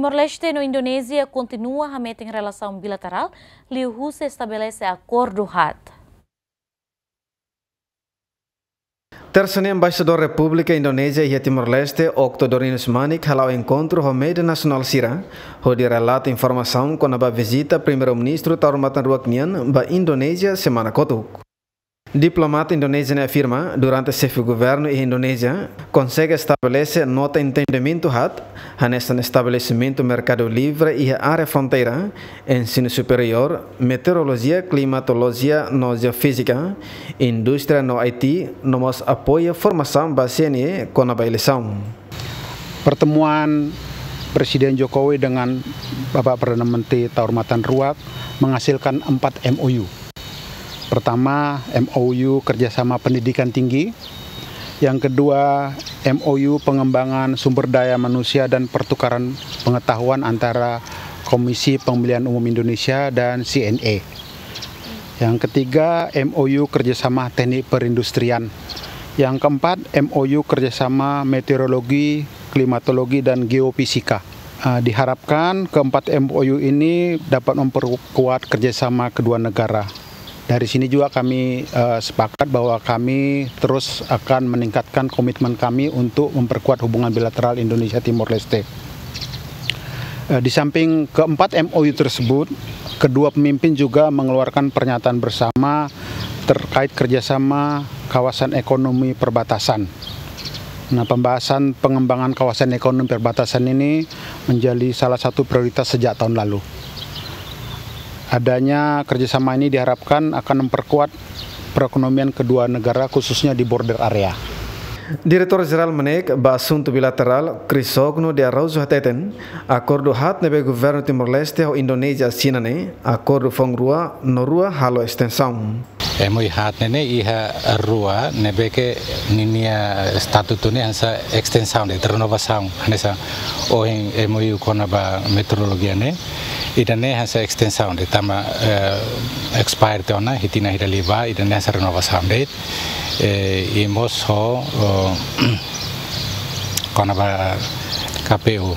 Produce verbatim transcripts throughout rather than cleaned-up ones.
Timor-Leste no Indonézia kontinua hametin relasaun bilaterál liuhusi estabelese akordu haat. Tersa ne'e, Embaixadór Repúblika Indonézia iha Timor-Leste, Okto Dorinus Manik, hala'o enkontru ho média nasionál sira, hodi relata informasaun kona-ba vizita Primeiru-Ministru Taur Matan Ruak nian ba Indonézia semana kotuk. Diplomata Indonézia ne'e afirma, durante xefe governu iha Indonézia konsege estabelese nota entendimentu haat, hanesan estabelesimentu merkadu livre iha área fronteira, ensinu superiór, meteorolojia, klimatolojia no jeofízika, indústria no I T, no mós apoiu formasaun ba C N E kona-ba eleisaun. Pertemuan Presiden Jokowi dengan Bapak Perdana Menteri Taur Matan Ruak menghasilkan empat M O U. Pertama, M O U kerjasama pendidikan tinggi. Yang kedua, M O U pengembangan sumber daya manusia dan pertukaran pengetahuan antara Komisi Pemilihan Umum Indonesia dan C N E. Yang ketiga, M O U kerjasama teknik perindustrian. Yang keempat, M O U kerjasama meteorologi, klimatologi, dan geofisika. Ah, diharapkan keempat M O U ini dapat memperkuat kerjasama kedua negara. Dari sini juga kami, eh, sepakat bahwa kami terus akan meningkatkan komitmen kami untuk memperkuat hubungan bilateral Indonesia Timor Leste. Eh, di samping keempat M O U tersebut, kedua pemimpin juga mengeluarkan pernyataan bersama terkait kerjasama kawasan ekonomi perbatasan. Nah, pembahasan pengembangan kawasan ekonomi perbatasan ini menjadi salah satu prioritas sejak tahun lalu. Adanya kerjasama ini diharapkan akan memperkuat perekonomian kedua negara, khususnya di border area. Diretór Jerál MNEK ba Asuntu Bilaterál, Crisógono de Araújo hateten, akordu haat ne'ebé Governu Timor-Leste ho Indonézia asina ne'e, akordu foun rua no rua halo estensaun. M O U haat ne'e ne'e iha rua ne'ebé ke ninia estatutu ne'e hanesan estensaun de'it, renovasaun, hanesan ohin M O U kona-ba meteorolojia ne'e, ida-ne'e hanesan estensaun de'it, tanba, eh, expire tiha ona, hitina hira liba, ida-ne'e hanesan renovasaun de'it, eh, i mós ho, oh, kona-ba K P U.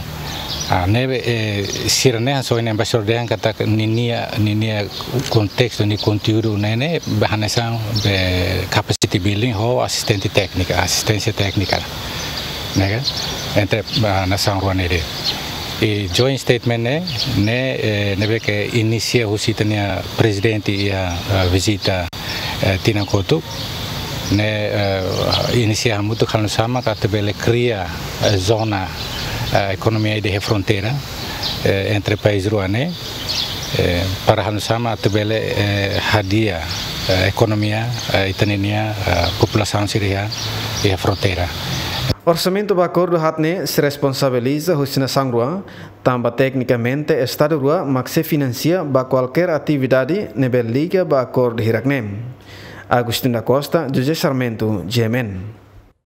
Ah, ne'ebé, eh, sira-ne'e hanesan ohin embaixadór dehan katak ninia, ninia kontestu, nia konteúdu ne'e ne'e, be hanesan be capacity building ho asistente téknika, asisténsia téknika. Ne'e ka? Entre, ah, nasaun rua ne'e de'it. I joint statement ne'e, ne'e, eh, ne'ebé ke inisia husi ita-nia prezidente iha, ah, vizita eh, tinan kotuk, ne'e, eh, inisia hamutuk halo nu'usá mak atu bele kria, eh, zona, eh, ekonomia ida iha fronteira, eh, entre país rua ne'e, eh, para halo nu'usá mak atu bele, eh, hadi'a, eh, ekonomia, eh, ita-ninia, eh, populasaun sira iha, iha fronteira. Orsamentu ba akordu haat ne'e sei responsabiliza husi nasaun rua, tanba teknikamente estadu rua mak sei finansia ba kualkér atividade ne'ebé liga ba akordu hirak-ne'e. Agostinho da Costa, José Sarmento, G M N.